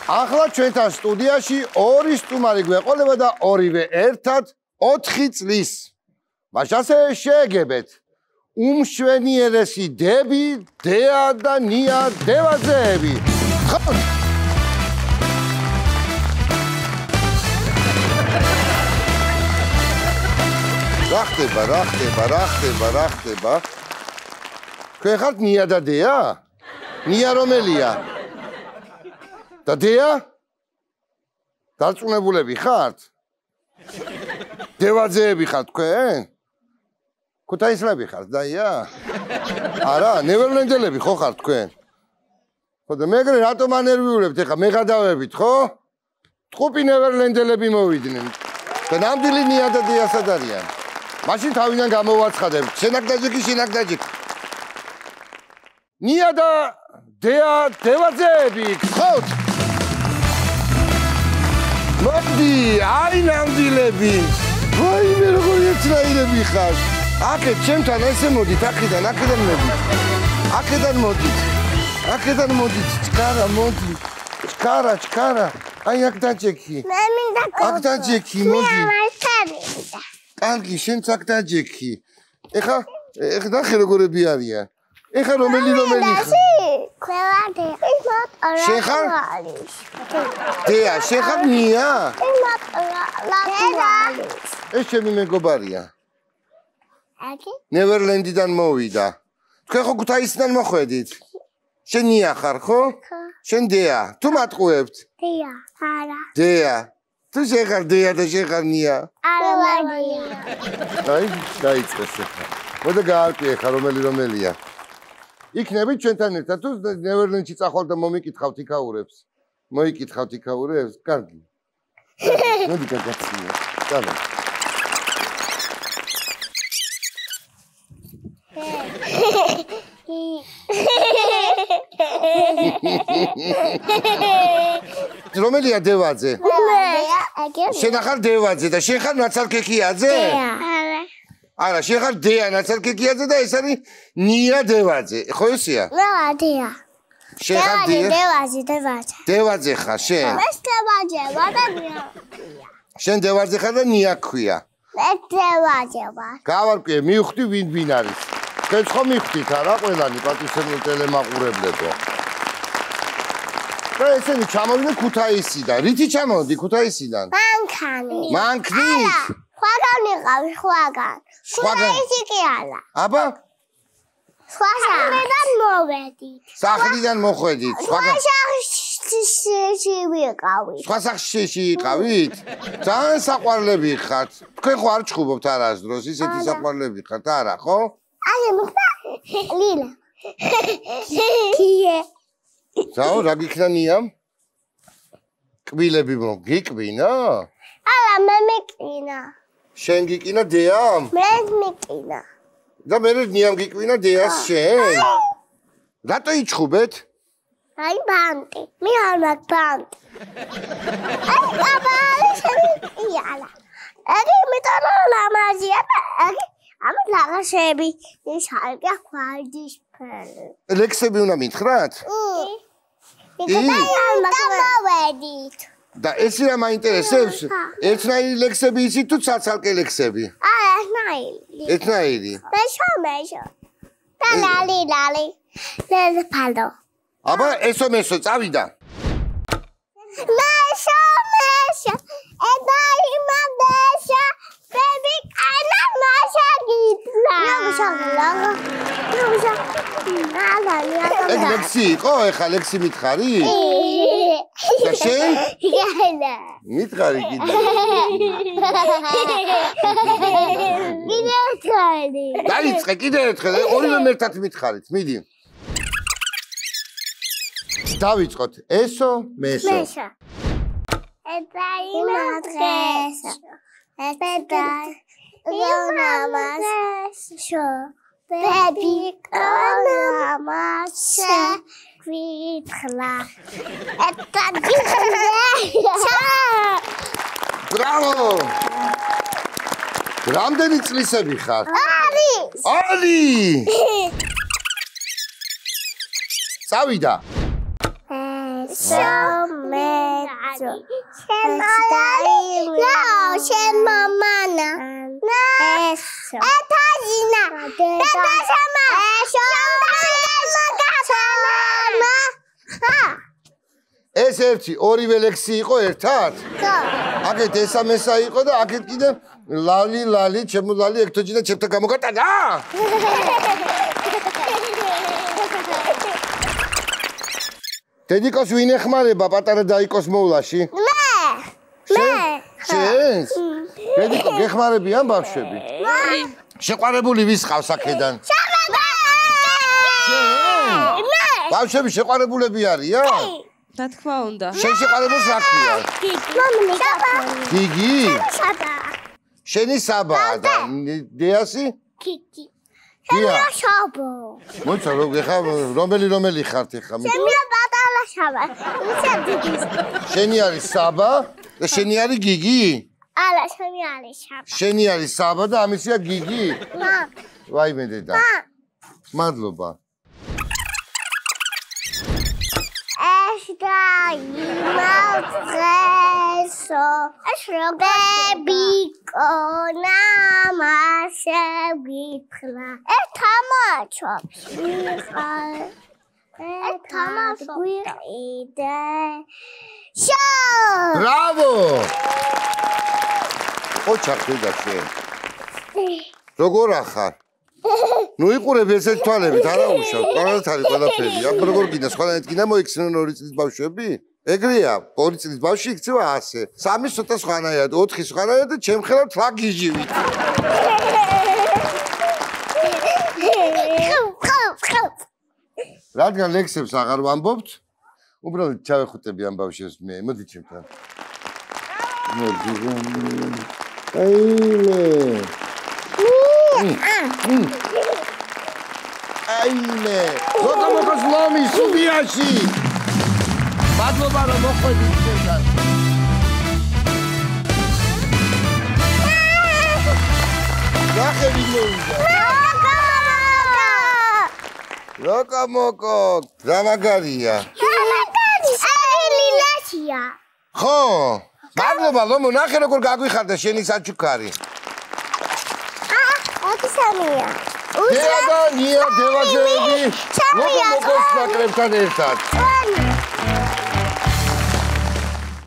ახლა ჩვენთან სტუდიაში ორი სტუმარი გვეყოლება და ორივე ერთად 4 წლის. მაშასე შეეგებეთ უმშვენიერესი დები, დეა და ნია დევაძეები. რა ხდება? თქვენ ხართ ნია და დეა? ნია რომელია? და დეა? დარწმუნებულები ხართ? დევაძეები ხართ თქვენ? ქუთაისლები ხართ დაია? არა, ნევერლენდელები ხო ხართ თქვენ? ხო და მეგრე რატომ ანერვიულებთ ეხა მე გადავებით ხო? ტყუპი ნევერლენდელები მოვიდნენ. და ნამდვილი ნია და დეა სად არიან? მაშინ თავიდან გამოვაცხადებ. შენაკდაჯიკი. ნია და დეა დევაძეები გხოთ. მოდი, აი ნამდვილები. ვაიმე როგორი ეცნაირები ხარ. აქეთ ჩემთან ესე მოდით, აქედან მოდით. აქედან მოდით. ჩქარა მოდი. ჩქარა. აი აქ დაჯექი. მე მინდა აქ დაჯექი, მოდი. კარგი, შენც აქ დაჯექი. ეხა ნახე როგორები არიან. ეხა რომელი ხარ? ყველა დეა. შენ ხარ? დეა, შენ ხარ ნია? ეს ჩემი მეგობარია. ნევერლენდიდან მოვიდა. თქვენ ხო ქუთაისიდან მოხვედით? შენ ნია ხარ ხო? შენ დეა. თუ მატყუებთ? დეა, არა. დეა. თუ შენ ხარ დეა და შენ ხარ ნია? არა, დეა. აი, დაიწყეს ახლა. მოდა გაარკვიე ხა რომელია. იქნებით ჩვენთან ერთად თუ ნევერლენდში წახვალ და მომიკითხავთ იქაურებს. მოიკითხავთ იქაურებს? კარგი. მოდი გაგაცინო. დავა. რომელია დევაძე? შენ ხარ დევაძე და შენ ხარ ნაცალქეკიაძე? არა, შენ ხარ დეა ნაცალქეკიაძე და ეს არის ნია დევაძე. ხო ესეა? რა, დეა. შენ ხარ დევაძე. დევაძე ხარ შენ? ეს დევაძე, ვადა ნია. შენ დევაძე ხარ და ნია ქვია. ეს დევაძე ვარ. გავარკვიე, მივხვდი ვინ არის. თქვენ ხო მივხვდით არა ყველანი პატივსაცემლო ტელემაყურებლებო. და ესენი ჩამოვიდნენ ქუთაისიდან. რითი ჩამოვიდი ქუთაისიდან? მანქნით? სხვაგან იყავი, სხვაგან. ქუთაისი კი არა. აბა? სხვა სახლიდან მოვედით. სახლიდან მოხვედით? სხვა სახლში ვიყავით. სხვა სახლში იყავით? ძალიან საყვარლები ხართ. თქვენ ხო არ ჩხუბობთ არასდროს, ისეთი საყვარლები ხართ, არა, ხო? აი, მიხდა ლილა. კიე. ზაო, რა გიქნა ნიამ? კბილები მოგიკბინა? არა, მე მეკინა. შენ გიკინა დეამ? მე მეკინა. და მე ნიამ გიკბინა დეას შენ? რატო იჩხუბეთ? აი ბანტი. მე არ მაქვს ბანტი. აი აბა, შეიალა. აი მეტალა ლამაზია და აი ამ ლაღაშები ისალკა ხვალდის ფერი. ლექსები უნდა მითხრათ? დამოვედით. და ესი რა მაინტერესებს? ერთნაირი ლექსები იცით თუ ცალ-ცალკე ლექსები? ერთნაირი. ერთნაირი. მეშო. და ლალი. ლეფალო. აბა ესო წავიდა. მეშო. ედაიმადეშა. ბები კანა მაშა გიტლა. ეგ ლექსი იყო? ეხა ლექსი მითხარი? და შენ? მითხარი კიდე. დაიწყე კიდე ერთხელ, ორივე ერთად მითხარით, მიდი. დავიწყოთ. ესო, მესო. ედაიმადეშა. Ionamazesho, baby, ionamazesho, vitla. Bravo! რამდენი წლისები ხარ? ალი! წავიდა. Some შემომანა ეთაჟინა დედაშამა ეს ერთი ორივე ლექსი იყო ერთად? აქეთ ესამესა იყო და აქეთ კიდე ლალი ლალი ჩემო ლალი ექტოჯი და ჩემთან გამოგატანა? დედიკოს ვინ ეხმარება პატარა დაიკოს მოვლაში? შენს? დედიკო გეხმარებიან ბავშვები? შეყვარებული ვის ყავს აქედან? ბავშვები შეყვარებულები არიან? რა თქმა უნდა. შენ შეყვარებულს რა ქვია? გიგი? შენი საბაა და დიასი? გიგი. გია. შაბო. მოიცა რომელი ხართ ეხა? ჩემი პატარა შაბა. ისე გიგის. შენი არის საბა და შენი არის გიგი? არა, შენი არის შაბა. შენი არის საბა და ამისია გიგი? ვაიმე დედა. მადლობა. Dreso, bebikona masevitla. Etamachops. Etamachops. Show. Bravo! ოჩახი და შენ. როგორ ახარ? ნუ იყურებ ესეთ თვალებით, არა უშავ, ყველათ არის ყველაფერი. აქ როგორ გინდა, სხვანაირად გინდა მოიქცნენ 2 წლის ბავშვები? ეგრეა, 2 წლის ბავშვი იქცევა ასე. 3 ცოტა სხვანაირად, 4 სხვანაირად და ჩემ ხელად თვა გიჟივით. რადგან ლექსებს აღარ ვამბობთ, უბრალოდ ჩავეხუტები ამ ბავშვებს მე, მოდი ჩემთან. აიმე, ლოკომოკოს ლომი სუბიაში. მადლობა რომ მოხვედით ჩემთან. ნახევი მოუნდა. ლოკომოკო, რა მაგარია. ელილაშია. ხო, მადლობა ლომო, ნახე როგორ გაგვიხარდა შენი საჩუქარი. ოდისამია. დედა, ნია, დევაჟეები, ლოკომოკოს ნაკრებთან ერთად.